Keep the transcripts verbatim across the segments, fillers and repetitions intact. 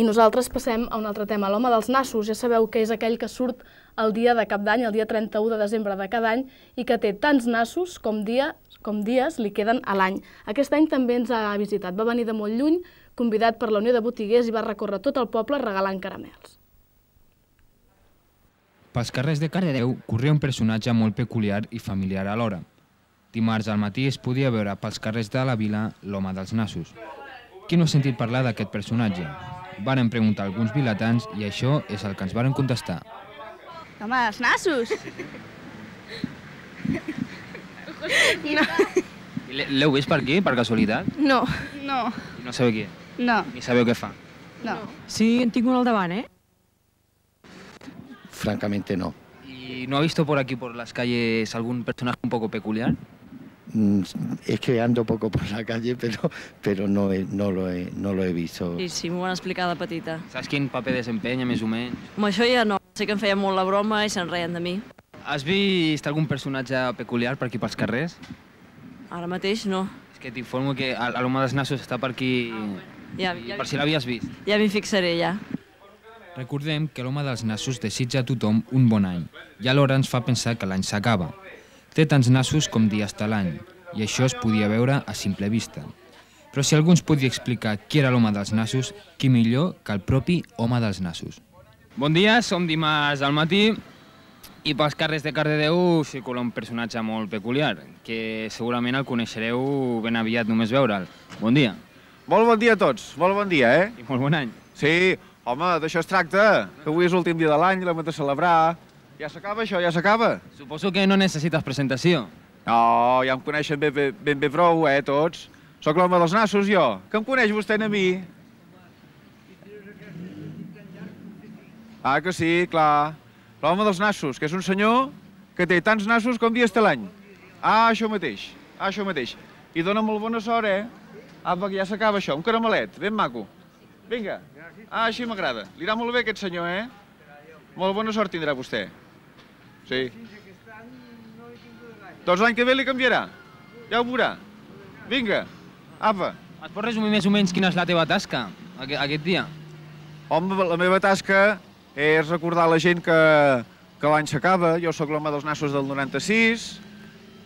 I nosaltres passem a un altre tema, l'home dels nassos. Ja sabeu que és aquell que surt el dia de cap d'any, el dia trenta-u de desembre de cada any, i que té tants nassos com, dia, com dies li queden a l'any. Aquest any també ens ha visitat. Va venir de molt lluny, convidat per la Unió de Botiguers, i va recórrer tot el poble regalant caramels. Pels carrers de Cardedeu corria un personatge molt peculiar i familiar alhora. Dimarts al matí es podia veure pels carrers de la vila l'home dels nassos. Qui no ha sentit parlar d'aquest personatge? Varen preguntar alguns vilatans i això és el que ens varen contestar. Home, els nassos! No. L'heu vist per aquí, per casualitat? No. No. No sabeu qui? No. Ni sabeu què fa? No. Sí, en tinc un al davant, eh? Francamente no. ¿Y no ha visto por aquí, por las calles, algún personaje un poco peculiar? Mm, Es que ando poco por la calle, pero, pero no, he, no, lo he, no lo he visto. Sí, sí, m'ho van explicar de petita. Saps quin paper desempenya, més o menys? Amb això ja no. Sé que em feia molt la broma i se'n reien de mi. Has vist algun personatge peculiar per aquí pels carrers? Ara mateix no. És que t'informo que l'home dels nassos està per aquí... Ja, i ja, per si l'havies vist. ja m'hi fixaré, ja. Recordem que l'home dels nassos desitja a tothom un bon any i alhora ens fa pensar que l'any s'acaba. Té tants nassos com dies de l'any i això es podia veure a simple vista. Però si algú ens podia explicar qui era l'home dels nassos, qui millor que el propi home dels nassos. Bon dia, som dimarts al matí i pels carrers de Cardedeu circula un personatge molt peculiar, que segurament el coneixereu ben aviat només veure'l. Bon dia. Molt bon dia a tots, molt bon dia, eh? I molt bon any. Sí, home, d'això es tracta, que avui és l'últim dia de l'any, l'hem de celebrar. Ja s'acaba això, ja s'acaba. Suposo que no necessites presentació. No, ja em coneixen ben bé, ben bé prou, eh, tots. Soc l'home dels nassos, jo. Que em coneix vostè a mi? Ah, que sí, clar. L'home dels nassos, que és un senyor que té tants nassos com dies té l'any. Ah, això mateix, ah, això mateix. I dona molt bona sort, eh? Apa, que ja s'acaba això, un caramelet, ben maco. Vinga. Ah, així m'agrada. Li irà molt bé aquest senyor, eh? Molt bona sort tindrà vostè. Sí. Doncs l'any que ve li canviarà. Ja ho veurà. Vinga. Apa. Et pots resumir més o menys quina és la teva tasca aquest dia? Home, la meva tasca és recordar a la gent que, que l'any s'acaba. Jo sóc l'home dels nassos del noranta-sis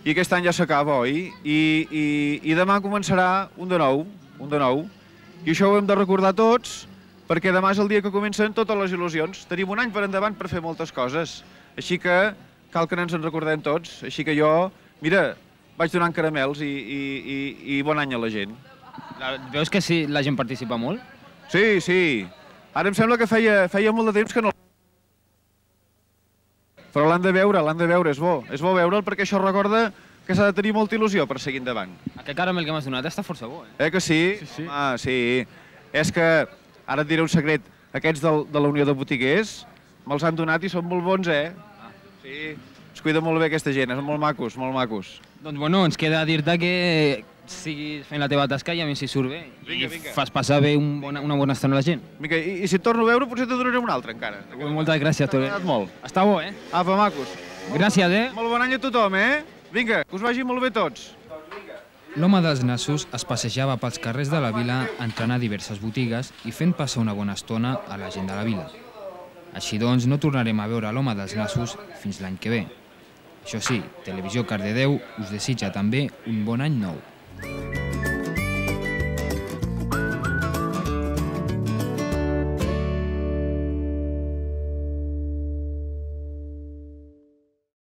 i aquest any ja s'acaba, oi? I, i, I demà començarà un de nou, un de nou. I això ho hem de recordar tots, perquè demà és el dia que comencen totes les il·lusions. Tenim un any per endavant per fer moltes coses. Així que cal que ens en recordem tots. Així que jo, mira, vaig donant caramels i, i, i, i bon any a la gent. Veus que sí, la gent participa molt? Sí, sí. Ara em sembla que feia, feia molt de temps que no... Però l'han de veure, l'han de veure, és bo. És bo veure'l perquè això recorda que s'ha de tenir molta il·lusió per seguir endavant. Aquest caramel que m'has donat està força bo, eh? Eh que sí? Sí, sí. Ah, sí. És que, ara et diré un secret, aquests del, de la Unió de Botiguers me'ls han donat i són molt bons, eh? Ah. Sí. Es cuida molt bé aquesta gent, són molt macos, molt macos. Doncs bueno, ens queda dir-te que siguis fent la teva tasca i a mi si surt bé. Vinga, I vinga. fas passar bé un bona, una bona estona a la gent. Vinga, i, i si et torno a veure potser te donaré un altre encara. Moltes gràcies, Tore. T'ha agradat molt. Està bo, eh? Apa, macos. Gràcies, eh? Molt bon any a tothom, eh? Vinga, que us vagi molt bé tots. L'home dels nassos es passejava pels carrers de la vila entrant a diverses botigues i fent passar una bona estona a la gent de la vila. Així doncs, no tornarem a veure l'home dels nassos fins l'any que ve. Això sí, Televisió Cardedeu us desitja també un bon any nou.